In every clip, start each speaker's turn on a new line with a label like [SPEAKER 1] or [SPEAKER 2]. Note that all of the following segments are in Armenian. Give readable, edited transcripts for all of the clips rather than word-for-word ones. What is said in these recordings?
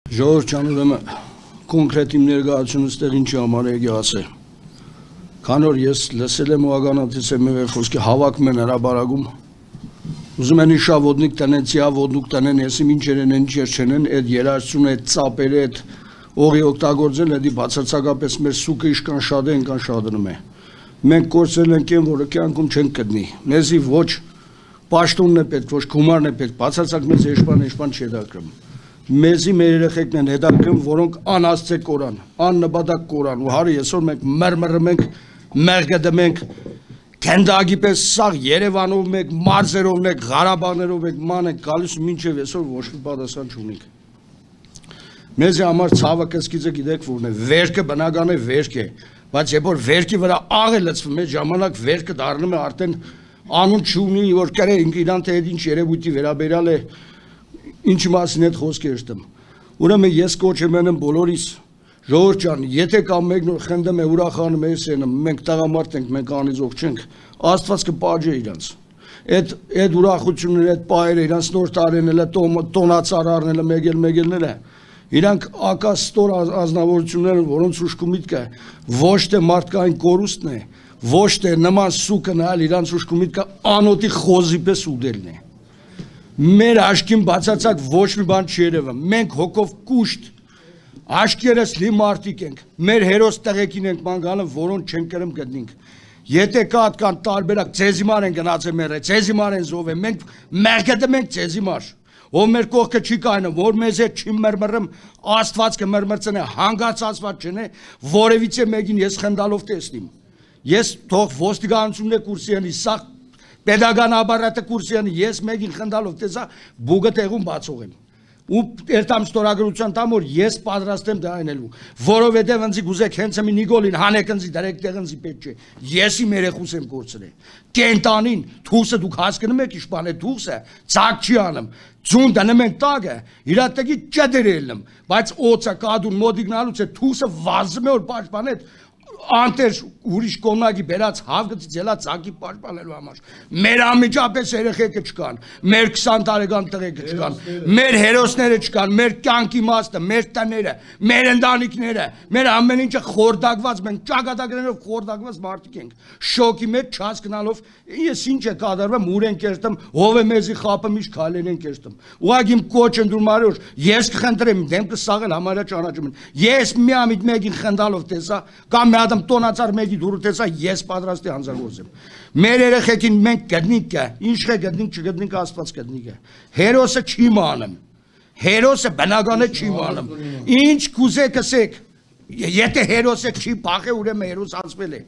[SPEAKER 1] Ժողովուրդ ջան, ուրեմն կոնկրետ իմ ներկայացումից տեղ ինչի համար եկի ասել։ Քանի որ ես լսել եմ ու ականատես եմ եղել խոսքի հավաքում են հրաբարակում։ Ուզում են իշավոդնիկ տնեն, ցիավոդնուկ տնեն, եսիմ ինչեր են, ինչեր չեն, այդ երաժշտությունը, այդ ծապերը, այդ օղի օգտագործել, դա բացարձակապես մեր սուկը իշքան շատ է, այնքան շատնում է։ Մենք կորցրել ենք այն, որը կյանքում չենք գտնի։ Մեզի ոչ պաշտոնն է պետք, ոչ գումարն է պետք, բացարձակ մեզ եշպան չի հետաքրքրում։ Մեզի մեր երեխեքն են հետաքրքրում, որոնք անաստծե կորան, աննպատակ կորան, ու հարի այսօր մենք մրմռում ենք, մեղգդում ենք, քենդագի պես սաղ Երևանով մենք, մարզերով մենք, Ղարաբաղներով մենք ման ենք գալիս ու մինչև այսօր ոչ մի պատասխան չունենք։ Մեզի համար ցավը կսկիծը գիտեք որն է, վերքը բնական է վերք է, բայց երբ որ վերքի վրա աղ է լցվում, այդ ժամանակ վերքը դառնում է արդեն անուն չունի, որ կրենք իրան թե ինչ երևույթի վերաբերյալ է ինչի մասին այդ խոսքեր շտում։ Ուրեմն ես կոչեմ եմ բոլորիս, ժողովուրդ ջան, եթե կամ մեկն որ խնդում է ուրախանում է սենը, մենք տղամարդ ենք, մենք անիզող չենք, Աստված կպաջե իրանց։ Այդ ուրախությունները, այդ պահերը, իրանց նոր տարիները, տոնածարարները, մեգելները, իրանք ակաստոր ազնվորություններ են, որոնց ուշքի միտքը ոչ թե մարդկային կորուստն է, ոչ թե նման սուկը նայել իրանց ուշքի միտքը անոտի խոզի պես ուդելն է։ Մեր աշկին բացարձակ ոչ մի բան չի երևում, մենք հոգով կուշտ, աշկերս լի մարդիկ ենք, մեր հերոս տղեկին ենք ման որոնց չենք կրում գտնենք, եթե կան տարբերակ, ծեզիմար են գնացել մերը, ծեզիմար են զով են, մենք մեղգդում ենք ծեզիմար, ով մեր կողքը չի կայնում, որ մեզ հետ չի մրմռում, Աստված կմրմրծնե, հանգած Աստված չնե, որևիցե մեկին ես խնդալով տեսնիմ, ես թող ոստիկանությունն է կուրսի անի, սաղ Պետական ապարատը կուրսի անի, ես մեկին խնդալով տեսա, բուգը տեղում բացող եմ, ու երտամ ստորագրության տամ, որ ես պատրաստ եմ դա այնելու, որովհետև ընձի գուզեք հենց մի Նիկոլին, հանեք ընձի, դրեք տեղ ընձի պետք չէ, եսի երեխուս եմ կորցրել, կենտանին, թուսը դուք հասկնում եք իշպան է թուսը, ծակ չի անում, ձուն դնում են տագը, իրատեգի ճդեր ելնում, բայց օծը կադուն մոդիգնալուց է թուսը վազում է որ պաշպան է, անտեր ուրիշ կոնագի բերած հավգծից ելա ծակի պաշտպանելու համար։ Մեր անմիջապես երեխեքը չկան, մեր 20 տարեկան տղեկը չկան, մեր հերոսները չկան, մեր կյանքի իմաստը, մեր տները, մեր ընտանիքները, մեր ամեն ինչը խորդակված, մենք ճակատագրերով խորդակված մարդիկ ենք։ Շոկի մեջ չհասկանալով ես ինչ է կատարվում, ուր են կերտում, ով է մեզի խապը միշտ քայլեր են կերտում։ Ուղղակի իմ կոչ ընդդուրմարոր, ես կխնդրեմ դեմքը սաղել համարյա ճանաչում են։ Ես միամիտ մեկին խնդալով տեսա, կամ մի հատ տոնածար մեկի դուրը տեսա, ես պատրաստ եմ հանձնարարեմ։ Մեր երեխեքին մենք գտնենք է, ինչ է գտնենք, չգտնենք Աստված գտնենք է։ Հերոսը չի մանում։ Հերոսը բնականը չի մանում։ Ինչ կուզեք ասեք, եթե հերոսը չի փախե, ուրեմն հերոս անցվել է։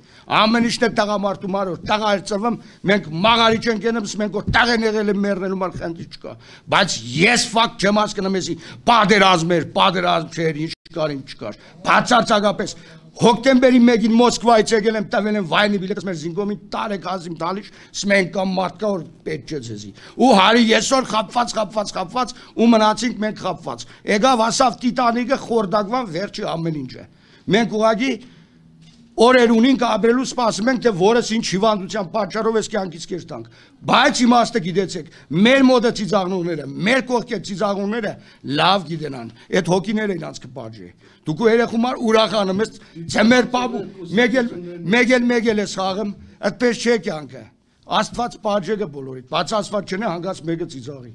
[SPEAKER 1] Ամեն ինչն է տղամարդու մարոր, տղա ծրվում, մենք մաղարի չենք ենում, մենք որ տղեն եղել են մեռնելու մալ խնդի չկա։ Բայց ես ֆակտ չեմ հասկանում էսի, պատերազմ չէր, ինչ կար, ինչ չկար։ Բացարձակապես Հոկտեմբերի 1-ին Մոսկվայից եկել եմ տվել եմ վայնի բիլետս մեր զինգոմին տարեք ազիմ տալիշ սմենք կամ մարդկա որ պետք չէ ձեզի ու հարի եսօր խապված ու մնացինք մենք խապված եկավ ասավ Տիտանիկը խորդակվան վերջի ամեն ինչը մենք ուղղակի օրեր ունենք ապրելու սպասում ենք թե որս ինչ հիվանդության պատճառով էս կյանքից կես տանք բայց իմաստը գիտեցեք մեր մոդը ծիծաղնողները մեր կողքի ծիծաղնողները լավ գիտենան այդ հոգիները իրանց կպաջի դուք երեխումար ուրախանում ես ձմեր պապու մեգել ես խաղում այդպես չէ կյանքը Աստված պաջեգը բոլորիդ բաց Աստված չնե հանգած մեկը ծիծաղի